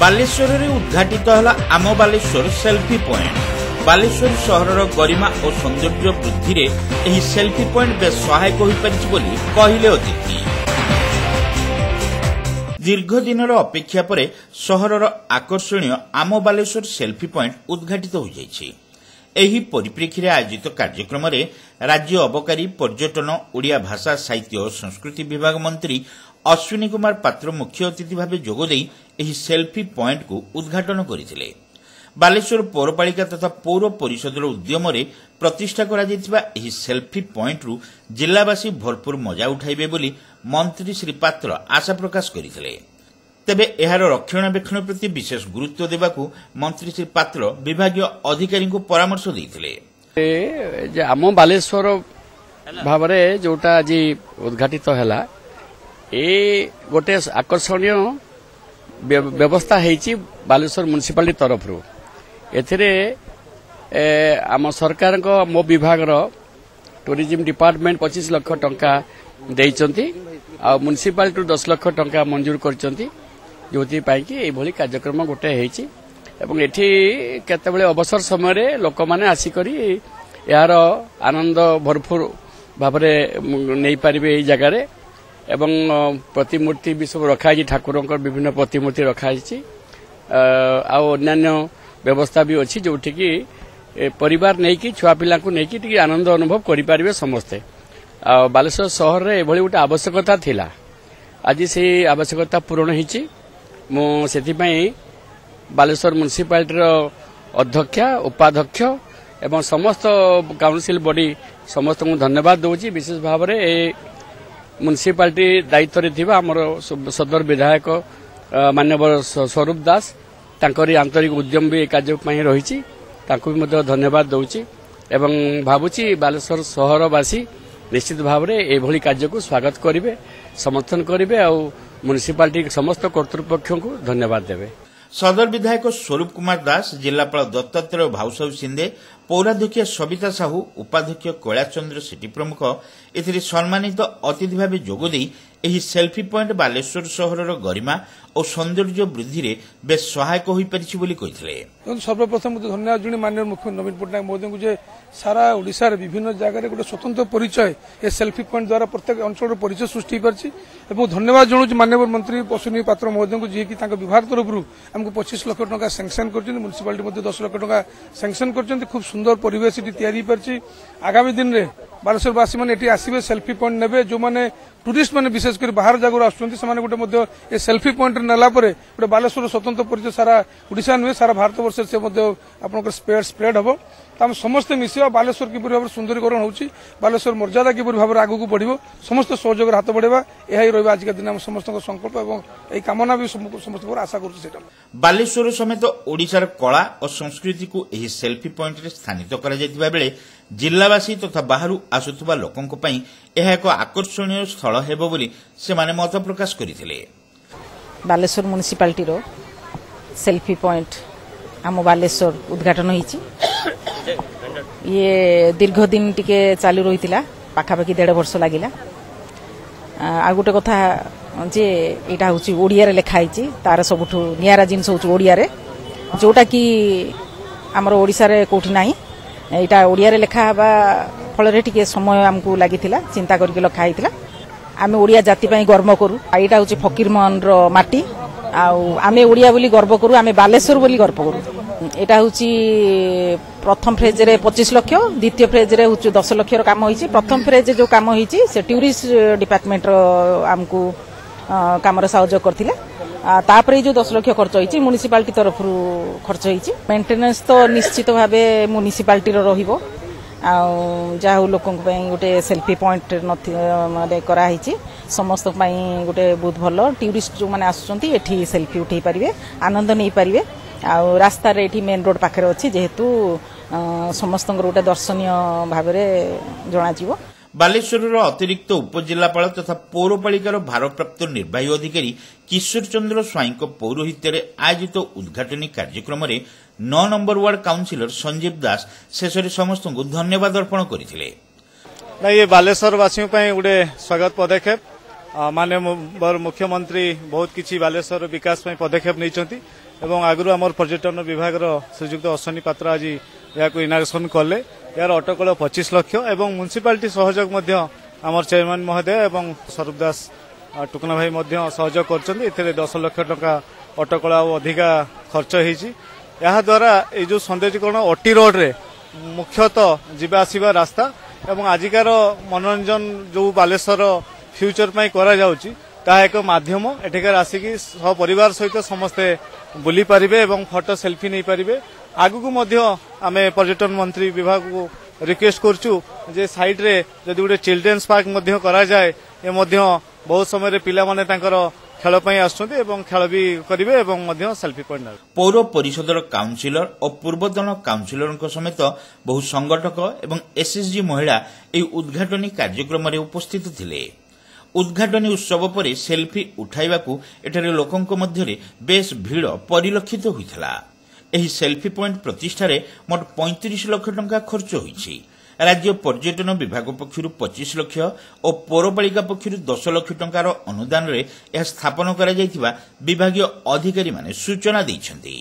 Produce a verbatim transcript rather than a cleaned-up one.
ବାଲେଶ୍ୱରରେ ଉଦ୍ଘାଟିତ ହେଲା ଆମ ବାଲେଶ୍ୱର ସେଲ୍ଫି ପଏଣ୍ଟ। ବାଲେଶ୍ୱର ସହରର ଗରିମା ଓ ସୌନ୍ଦର୍ଯ୍ୟ ବୃଦ୍ଧିରେ ଏହି ସେଲ୍ଫି ପଏଣ୍ଟ ବେଶ୍ ସହାୟକ ହୋଇପାରିଛି ବୋଲି କହିଲେ ଅତିଥି। ଦୀର୍ଘ ଦିନର ଅପେକ୍ଷା ପରେ ସହରର ଆକର୍ଷଣୀୟ ଆମ ବାଲେଶ୍ୱର ସେଲ୍ଫି ପଏଣ୍ଟ ଉଦ୍ଘାଟିତ ହୋଇଯାଇଛି। ଏହି ପରିପ୍ରେକ୍ଷୀରେ ଆୟୋଜିତ କାର୍ଯ୍ୟକ୍ରମରେ ରାଜ୍ୟ ଅବକାରୀ, ପର୍ଯ୍ୟଟନ, ଓଡ଼ିଆ ଭାଷା, ସାହିତ୍ୟ ଓ ସଂସ୍କୃତି ବିଭାଗ ମନ୍ତ୍ରୀ ଅଶ୍ୱିନୀ କୁମାର ପାତ୍ର ମୁଖ୍ୟ ଅତିଥି ଭାବେ ଯୋଗଦେଇ ଏହି ସେଲ୍ଫି ପଏଣ୍ଟକୁ ଉଦ୍ଘାଟନ କରିଥିଲେ। ବାଲେଶ୍ୱର ପୌରପାଳିକା ତଥା ପୌର ପରିଷଦର ଉଦ୍ୟମରେ ପ୍ରତିଷ୍ଠା କରାଯାଇଥିବା ଏହି ସେଲ୍ଫି ପଏଣ୍ଟରୁ ଜିଲ୍ଲାବାସୀ ଭରପୁର ମଜା ଉଠାଇବେ ବୋଲି ମନ୍ତ୍ରୀ ଶ୍ରୀ ପାତ୍ର ଆଶା ପ୍ରକାଶ କରିଥିଲେ। ତେବେ ଏହାର ରକ୍ଷଣାବେକ୍ଷଣ ପ୍ରତି ବିଶେଷ ଗୁରୁତ୍ୱ ଦେବାକୁ ମନ୍ତ୍ରୀ ଶ୍ରୀ ପାତ୍ର ବିଭାଗୀୟ ଅଧିକାରୀଙ୍କୁ ପରାମର୍ଶ ଦେଇଥିଲେ। ଯେ ଆମ ବାଲେଶ୍ୱର ଭାବରେ ଯୋଉଟା ଆଜି ଉଦ୍ଘାଟିତ ହେଲା, ଏ ଗୋଟେ ଆକର୍ଷଣୀୟ ବ୍ୟବସ୍ଥା ହେଇଛି ବାଲେଶ୍ୱର ମ୍ୟୁନିସିପାଲିଟି ତରଫରୁ। ଏଥିରେ ଆମ ସରକାରଙ୍କ ମୋ ବିଭାଗର ଟୁରିଜିମ୍ ଡିପାର୍ଟମେଣ୍ଟ ପଚିଶ ଲକ୍ଷ ଟଙ୍କା ଦେଇଛନ୍ତି ଆଉ ମ୍ୟୁନିସିପାଲିଟିରୁ ଦଶ ଲକ୍ଷ ଟଙ୍କା ମଞ୍ଜୁର କରିଛନ୍ତି, ଯେଉଁଥିପାଇଁ କି ଏଇଭଳି କାର୍ଯ୍ୟକ୍ରମ ଗୋଟେ ହେଇଛି। ଏବଂ ଏଠି କେତେବେଳେ ଅବସର ସମୟରେ ଲୋକମାନେ ଆସିକରି ଏହାର ଆନନ୍ଦ ଭରପୁର ଭାବରେ ନେଇପାରିବେ ଏଇ ଜାଗାରେ। ଏବଂ ପ୍ରତିମୂର୍ତ୍ତି ବି ସବୁ ରଖାହେଇଛି, ଠାକୁରଙ୍କର ବିଭିନ୍ନ ପ୍ରତିମୂର୍ତ୍ତି ରଖାହେଇଛି ଆଉ ଅନ୍ୟାନ୍ୟ ବ୍ୟବସ୍ଥା ବି ଅଛି, ଯୋଉଠିକି ପରିବାର ନେଇକି ଛୁଆ ପିଲାଙ୍କୁ ନେଇକି ଟିକେ ଆନନ୍ଦ ଅନୁଭବ କରିପାରିବେ ସମସ୍ତେ। ଆଉ ବାଲେଶ୍ୱର ସହରରେ ଏଭଳି ଗୋଟେ ଆବଶ୍ୟକତା ଥିଲା, ଆଜି ସେଇ ଆବଶ୍ୟକତା ପୂରଣ ହେଇଛି। ମୁଁ ସେଥିପାଇଁ ବାଲେଶ୍ୱର ମ୍ୟୁନିସିପାଲିଟିର ଅଧ୍ୟକ୍ଷା, ଉପାଧ୍ୟକ୍ଷ ଏବଂ ସମସ୍ତ କାଉନସିଲ ବଡି ସମସ୍ତଙ୍କୁ ଧନ୍ୟବାଦ ଦେଉଛି। ବିଶେଷ ଭାବରେ ଏ ମ୍ୟୁନିସିପାଲିଟି ଦାୟିତ୍ୱରେ ଥିବା ଆମର ସଦର ବିଧାୟକ ମାନ୍ୟବର ସ୍ୱରୂପ ଦାସ, ତାଙ୍କରି ଆନ୍ତରିକ ଉଦ୍ୟମ ବି ଏ କାର୍ଯ୍ୟ ପାଇଁ ରହିଛି, ତାଙ୍କୁ ବି ମଧ୍ୟ ଧନ୍ୟବାଦ ଦେଉଛି। ଏବଂ ଭାବୁଛି ବାଲେଶ୍ୱର ସହରବାସୀ ନିଶ୍ଚିତ ଭାବରେ ଏଭଳି କାର୍ଯ୍ୟକୁ ସ୍ୱାଗତ କରିବେ, ସମର୍ଥନ କରିବେ ଆଉ ମ୍ୟୁନିସିପାଲିଟି ସମସ୍ତ କର୍ତ୍ତୃପକ୍ଷଙ୍କୁ ଧନ୍ୟବାଦ ଦେବେ। ସଦର ବିଧାୟକ ସ୍ୱରୂପ କୁମାର ଦାସ, ଜିଲ୍ଲାପାଳ ଦତ୍ତାତ୍ରେୟ ଭାଉସାହୁ ସିନ୍ଦେ, ପୌରାଧ୍ୟକ୍ଷ ସବିତା ସାହୁ, ଉପାଧ୍ୟକ୍ଷ କୈଳାସ ଚନ୍ଦ୍ର ସେଠୀ ପ୍ରମୁଖ ଏଥିରେ ସମ୍ମାନିତ ଅତିଥି ଭାବେ ଯୋଗଦେଇ ଏହି ସେଲ୍ଫି ପଏଣ୍ଟ ବାଲେଶ୍ୱର ସହରର ଗରିମା ଓ ସୌନ୍ଦର୍ଯ୍ୟ ବୃଦ୍ଧିରେ ବେଶ୍ ସହାୟକ ହୋଇପାରିଛି ବୋଲି କହିଥିଲେ। ସର୍ବପ୍ରଥମେ ମୁଁ ଧନ୍ୟବାଦ ଜଣାଇ ମାନ୍ୟ ମୁଖ୍ୟମନ୍ତ୍ରୀ ନବୀନ ପଟ୍ଟନାୟକ ମହୋଦୟଙ୍କୁ ଯେ ସାରା ଓଡ଼ିଶାରେ ବିଭିନ୍ନ ଜାଗାରେ ଗୋଟେ ସ୍ୱତନ୍ତ୍ର ପରିଚୟ ଏ ସେଲ୍ଫି ପଏଣ୍ଟ ଦ୍ୱାରା ପ୍ରତ୍ୟେକ ଅଞ୍ଚଳର ପରିଚୟ ସୃଷ୍ଟି ହୋଇପାରିଛି। ଏବଂ ଧନ୍ୟବାଦ ଜଣାଉଛି ମାନ୍ୟବର ମନ୍ତ୍ରୀ ଅଶ୍ୱିନୀ ପାତ୍ର ମହୋଦୟଙ୍କୁ, ଯିଏକି ତାଙ୍କ ବିଭାଗ ତରଫରୁ ଆମକୁ ପଚିଶ ଲକ୍ଷ ଟଙ୍କା ସାଙ୍କସନ୍ କରିଛନ୍ତି, ମ୍ୟୁନିସିପାଲିଟି ମଧ୍ୟ ଦଶ ଲକ୍ଷ ଟଙ୍କା ସାଙ୍କସନ୍ କରିଛନ୍ତି। ଖୁବ୍ ସୁନ୍ଦର ପରିବେଶ ଏଠି ତିଆରି ହୋଇପାରିଛି। ଆଗାମୀ ଦିନରେ ବାଲେଶ୍ୱରବାସୀ ମାନେ ଏଠି ଆସିବେ, ସେଲ୍ଫି ପଏଣ୍ଟ ନେବେ। ଯେଉଁମାନେ ଟୁରିଷ୍ଟ ମାନେ ବିଶେଷ କରି ବାହାର ଜାଗାରୁ ଆସୁଛନ୍ତି, ସେମାନେ ଗୋଟେ ମଧ୍ୟ ଏ ସେଲ୍ଫି ପଏଣ୍ଟରେ ନେଲା ପରେ ଗୋଟେ ବାଲେଶ୍ୱର ସ୍ୱତନ୍ତ୍ର ପରିଚୟ ସାରା ଓଡ଼ିଶା ନୁହେଁ, ସାରା ଭାରତବର୍ଷରେ ସେ ମଧ୍ୟ ଆପଣଙ୍କର ସ୍ପ୍ରେଡ୍ ସ୍ପ୍ରେଡ୍ ହେବ। ତ ଆମେ ସମସ୍ତେ ମିଶିବା, ବାଲେଶ୍ୱର କିପରି ଭାବରେ ସୁନ୍ଦରୀକରଣ ହେଉଛି, ବାଲେଶ୍ୱର ମର୍ଯ୍ୟାଦା କିପରି ଭାବରେ ଆଗକୁ ବଢ଼ିବ, ସମସ୍ତେ ସହଯୋଗରେ ହାତ ବଢ଼ାଇବା, ଏହା ହିଁ ରହିବ ଆଜିକା ଦିନ ଆମ ସମସ୍ତଙ୍କ ସଂକଳ୍ପ ଏବଂ ଏହି କାମନା ବି ସମସ୍ତଙ୍କର ଆଶା କରୁଛୁ। ସେଇଟା ବାଲେଶ୍ୱର ସମେତ ଓଡ଼ିଶାର କଳା ଓ ସଂସ୍କୃତିକୁ ଏହି ସେଲ୍ଫି ପଏଣ୍ଟରେ ସ୍ଥାନିତ କରାଯାଇଥିବା ବେଳେ ଜିଲ୍ଲାବାସୀ ତଥା ବାହାରୁ ଆସୁଥିବା ଲୋକଙ୍କ ପାଇଁ ଏହା ଏକ ଆକର୍ଷଣୀୟ ସ୍ଥଳ ହେବ ବୋଲି ସେମାନେ ମତ ପ୍ରକାଶ କରିଥିଲେ। ବାଲେଶ୍ୱର ମ୍ୟୁନିସିପାଲିଟିର ସେଲ୍ଫି ପଏଣ୍ଟ ଆମ ବାଲେଶ୍ୱର ଉଦ୍ଘାଟନ ହେଇଛି। ଇଏ ଦୀର୍ଘ ଦିନ ଟିକେ ଚାଲୁ ରହିଥିଲା, ପାଖାପାଖି ଦେଢ଼ ବର୍ଷ ଲାଗିଲା। ଆଉ ଗୋଟେ କଥା ଯେ ଏଇଟା ହେଉଛି ଓଡ଼ିଆରେ ଲେଖା ହେଇଛି, ତାର ସବୁଠୁ ନିଆରା ଜିନିଷ ହେଉଛି ଓଡ଼ିଆରେ, ଯୋଉଟାକି ଆମର ଓଡ଼ିଶାରେ କୋଉଠି ନାହିଁ। ଏଇଟା ଓଡ଼ିଆରେ ଲେଖା ହେବା ଫଳରେ ଟିକେ ସମୟ ଆମକୁ ଲାଗିଥିଲା, ଚିନ୍ତା କରିକି ଲେଖା ହେଇଥିଲା। ଆମେ ଓଡ଼ିଆ ଜାତି ପାଇଁ ଗର୍ବ କରୁ। ଏଇଟା ହେଉଛି ଫକୀରମୋହନର ମାଟି, ଆଉ ଆମେ ଓଡ଼ିଆ ବୋଲି ଗର୍ବ କରୁ, ଆମେ ବାଲେଶ୍ୱର ବୋଲି ଗର୍ବ କରୁ। ଏଇଟା ହେଉଛି ପ୍ରଥମ ଫେଜ୍ରେ ପଚିଶ ଲକ୍ଷ, ଦ୍ୱିତୀୟ ଫେଜ୍ରେ ହେଉଛି ଦଶ ଲକ୍ଷର କାମ ହେଇଛି। ପ୍ରଥମ ଫେଜ୍ ଯେଉଁ କାମ ହେଇଛି ସେ ଟୁରିଷ୍ଟ ଡିପାର୍ଟମେଣ୍ଟର ଆମକୁ କାମରେ ସହଯୋଗ କରିଥିଲେ। ତାପରେ ଏଇ ଯେଉଁ ଦଶ ଲକ୍ଷ ଖର୍ଚ୍ଚ ହେଇଛି ମ୍ୟୁନିସିପାଲିଟି ତରଫରୁ ଖର୍ଚ୍ଚ ହେଇଛି। ମେଣ୍ଟେନାନ୍ସ ତ ନିଶ୍ଚିତ ଭାବେ ମ୍ୟୁନିସିପାଲିଟିର ରହିବ। ଆଉ ଯାହା ହଉ ଲୋକଙ୍କ ପାଇଁ ଗୋଟେ ସେଲ୍ଫି ପଏଣ୍ଟ ମାନେ କରାହେଇଛି, ସମସ୍ତଙ୍କ ପାଇଁ ଗୋଟେ ବହୁତ ଭଲ। ଟୁରିଷ୍ଟ ଯେଉଁମାନେ ଆସୁଛନ୍ତି ଏଠି ସେଲ୍ଫି ଉଠେଇ ପାରିବେ, ଆନନ୍ଦ ନେଇପାରିବେ। ଆଉ ରାସ୍ତାରେ ଏଠି ମେନ୍ ରୋଡ୍ ପାଖରେ ଅଛି, ଯେହେତୁ ସମସ୍ତଙ୍କର ଗୋଟେ ଦର୍ଶନୀୟ ଭାବରେ ଜଣାଯିବ। ବାଲେଶ୍ୱରର ଅତିରିକ୍ତ ଉପଜିଲ୍ଲାପାଳ ତଥା ପୌରପାଳିକାର ଭାରପ୍ରାପ୍ତ ନିର୍ବାହୀ ଅଧିକାରୀ କିଶୋର ଚନ୍ଦ୍ର ସ୍ୱାଇଁଙ୍କ ପୌରୋହିତ୍ୟରେ ଆୟୋଜିତ ଉଦ୍ଘାଟନୀ କାର୍ଯ୍ୟକ୍ରମରେ ନଅ number ward councillor Sanjeev Das ଶେଷରେ ସମସ୍ତଙ୍କୁ ଧନ୍ୟବାଦ ଅର୍ପଣ କରିଥିଲେ। ନା, ଇଏ ବାଲେଶ୍ୱରବାସୀଙ୍କ ପାଇଁ ଗୋଟେ ସ୍ୱାଗତ ପଦକ୍ଷେପ। ମାନ୍ୟବର ମୁଖ୍ୟମନ୍ତ୍ରୀ ବହୁତ କିଛି ବାଲେଶ୍ୱର ବିକାଶ ପାଇଁ ପଦକ୍ଷେପ ନେଇଛନ୍ତି ଏବଂ ଆଗରୁ ଆମର ପର୍ଯ୍ୟଟନ ବିଭାଗର ଶ୍ରୀଯୁକ୍ତ ଅଶ୍ୱିନୀ ପାତ୍ର ଆଜି ଏହାକୁ ଇନାଗ୍ରେସନ କଲେ। ଏହାର ଅଟକଳ ପଚିଶ ଲକ୍ଷ ଏବଂ ମ୍ୟୁନିସିପାଲିଟି ସହଯୋଗ ମଧ୍ୟ ଆମର ଚେୟାରମ୍ୟାନ୍ ମହୋଦୟ ଏବଂ ସ୍ୱରୂପ ଦାସ ଟୁକୁନା ଭାଇ ମଧ୍ୟ ସହଯୋଗ କରିଛନ୍ତି। ଏଥିରେ ଦଶ ଲକ୍ଷ ଟଙ୍କା ଅଟକଳ ଆଉ ଅଧିକା ଖର୍ଚ୍ଚ ହେଇଛି। ଏହାଦ୍ୱାରା ଏଇ ଯେଉଁ ସୌନ୍ଦର୍ଯ୍ୟକରଣ ଅଟି ରୋଡରେ ମୁଖ୍ୟତଃ ଯିବା ଆସିବା ରାସ୍ତା ଏବଂ ଆଜିକାର ମନୋରଞ୍ଜନ ଯେଉଁ ବାଲେଶ୍ୱର ଫ୍ୟୁଚର ପାଇଁ କରାଯାଉଛି ତାହା ଏକ ମାଧ୍ୟମ। ଏଠିକାର ଆସିକି ସପରିବାର ସହିତ ସମସ୍ତେ ବୁଲି ପାରିବେ ଏବଂ ଫଟୋ ସେଲ୍ଫି ନେଇପାରିବେ। ଆଗକୁ ମଧ୍ୟ ଆମେ ପର୍ଯ୍ୟଟନ ମନ୍ତ୍ରୀ ବିଭାଗକୁ ରିକ୍ୱେଷ୍ଟ କରୁଛୁ ଯେ ସାଇଡ୍ରେ ଯଦି ଗୋଟେ ଚିଲଡ୍ରେନ୍ସ ପାର୍କ ମଧ୍ୟ କରାଯାଏ, ଏ ମଧ୍ୟ ବହୁତ ସମୟରେ ପିଲାମାନେ ତାଙ୍କର ଖେଳ ପାଇଁ ଆସୁଛନ୍ତି ଏବଂ ଖେଳ ବି କରିବେ ଏବଂ ମଧ୍ୟ ସେଲ୍ଫି ପଏଣ୍ଟ ନେବେ। ପୌର ପରିଷଦର କାଉନସିଲର ଓ ପୂର୍ବତନ କାଉନସିଲରଙ୍କ ସମେତ ବହୁ ସଂଗଠକ ଏବଂ ଏସ୍ଏସ୍ଜି ମହିଳା ଏହି ଉଦ୍ଘାଟନୀ କାର୍ଯ୍ୟକ୍ରମରେ ଉପସ୍ଥିତ ଥିଲେ। ଉଦ୍ଘାଟନୀ ଉତ୍ସବ ପରେ ସେଲ୍ଫି ଉଠାଇବାକୁ ଏଠାରେ ଲୋକଙ୍କ ମଧ୍ୟରେ ବେଶ୍ ଭିଡ଼ ପରିଲକ୍ଷିତ ହୋଇଥିଲା। ଏହି ସେଲ୍ଫି ପଏଣ୍ଟ ପ୍ରତିଷ୍ଠାରେ ମୋଟ ପଇଁତିରିଶ ଲକ୍ଷ ଟଙ୍କା ଖର୍ଚ୍ଚ ହୋଇଛି। ରାଜ୍ୟ ପର୍ଯ୍ୟଟନ ବିଭାଗ ପକ୍ଷରୁ ପଚିଶ ଲକ୍ଷ ଓ ପୌରପାଳିକା ପକ୍ଷରୁ ଦଶ ଲକ୍ଷ ଟଙ୍କାର ଅନୁଦାନରେ ଏହା ସ୍ଥାପନ କରାଯାଇଥିବା ବିଭାଗୀୟ ଅଧିକାରୀମାନେ ସୂଚନା ଦେଇଛନ୍ତି।